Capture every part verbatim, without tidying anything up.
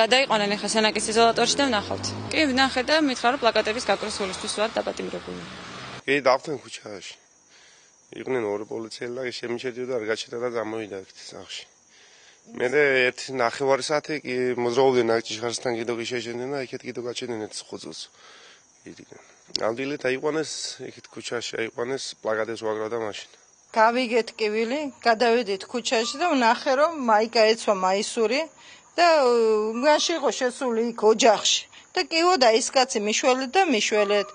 გადაიყვანენ ახლა სენაკის იზოლატორში და ვნახავთ. კი, ვნახე და მითხრა რომ პლაკატების გაკროსულისთვის ვარ დაპატიმრებული. კი, დავთენ ქუჩაში. იყვნენ ორი პოლიციელი და შემიჩედიოდა არ გაჩნდა და გამოვიდა აქ სახში. მე ერთი ნახევარი საათი კი მოძრაობდნენ აქ ჭიშკარისთან კიდო კი შეშენდნენ და იქეთ კიდო გაჩენდნენ ერთ ხუძულს. იდიგან. ამდილეთ აიყვანეს იქით ქუჩაში აიყვანეს პლაკატებს ვაგრავდა მაშინ. გავიგეთ კივილი, გადავედით ქუჩაში და ვნახე რომ მაიკა ეცვა მაისური და მაშინ იყო შესული იქ ოჯახში. და კივოდა ის კაცი მიშველეთ და მიშველეთ.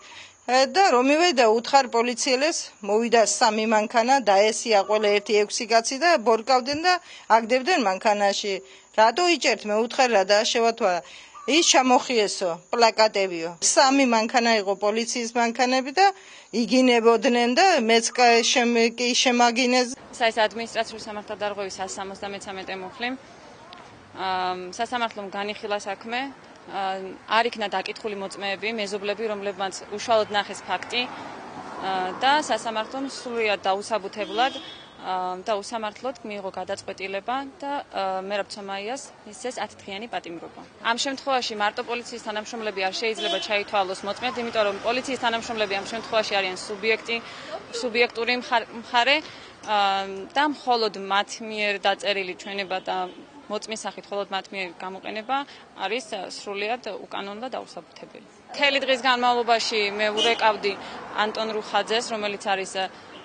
და რომ მივედა უთხარ პოლიციელებს, მოვიდა სამი მანქანა, დაესია ყველა ერთი ექვსი კაცი და ბორკავდნენ და აგდებდნენ მანქანაში. რატო იჭერთ მე უთხარ რა დააშევათვა? ის ჩამოხიესო, პლაკატებიო. სამი მანქანა იყო პოლიციის მანქანები და იგინებოდნენ და მეც კი შემაგინეს. საის ადმინისტრაციული სამართალდარღვევის one seventy-three მუხლი. სასამართლომ განიხილა საქმე. არ იქნა დაკითხული მოწმეები, მეზობლები, რომლებმაც უშუალოდ ნახეს ფაქტი და სასამართლომ სრულიად დაუსაბუთებლად და უსამართლოდ მიიღო გადაწყვეტილება და მერაბ-ცომაიას მისცეს ათი დღიანი პატიმრობა. ამ შემთხვევაში მარტო პოლიციის თანამშრომლები არ შეიძლება ჩაითვალოს მოწმედ, იმიტომ რომ პოლიციის თანამშრომლები ამ შემთხვევაში არიან სუბიექტი, სუბიექტური მხარე და მხოლოდ მათ მიერ დაწერილი ჩვენება და მოწმის სახით მხოლოდ მათ მიერ გამოყენება არის სრულიად უკანონო და დაუსაბუთებელი. მთელი დღის განმავლობაში მე ურეკავდი ანტონ რუხაძეს, რომელიც არის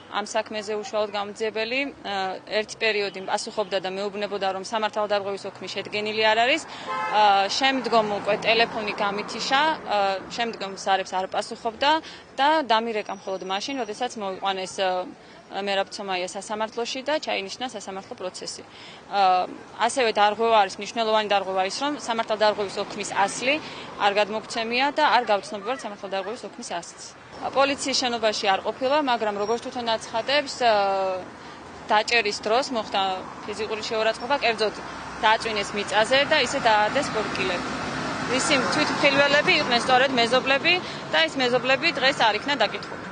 ამ საქმეზე უშუალოდ გამძიებელი, ერთი პერიოდი პასუხობდა და მეუბნებოდა რომ სამართალდარღვევის ოქმი შედგენილი არ არის. შემდგომ უკვე ტელეფონი გამითიშა, შემდგომ ზარებს არ პასუხობდა და დამირეკა მხოლოდ მაშინ, როდესაც მოვიყვანეს მერაბ-ცომაია სასამართლოში და ჩაინიშნა სასამართლო პროცესი. ასევე დარღვევა არის, მნიშვნელოვანი დარღვევა ის, რომ სამართალდარღვევის ოქმის ასლი არ გადმოგცემია და არ გავცნობიერებთ სამართალდარღვევის ოქმის ასლს. პოლიციის შენობაში არ ყოფილა, მაგრამ როგორც თვითონ აცხადებს, დაჭერის დროს მოხდა ფიზიკური შეურაცხყოფა, კერძოდ დააწვინეს მიწაზე და ისე დაადეს ბორკილები. ვისი თვითმხილველები იყვნენ სწორედ მეზობლები და ეს მეზობლები დღეს არ იქნა დაკითხული.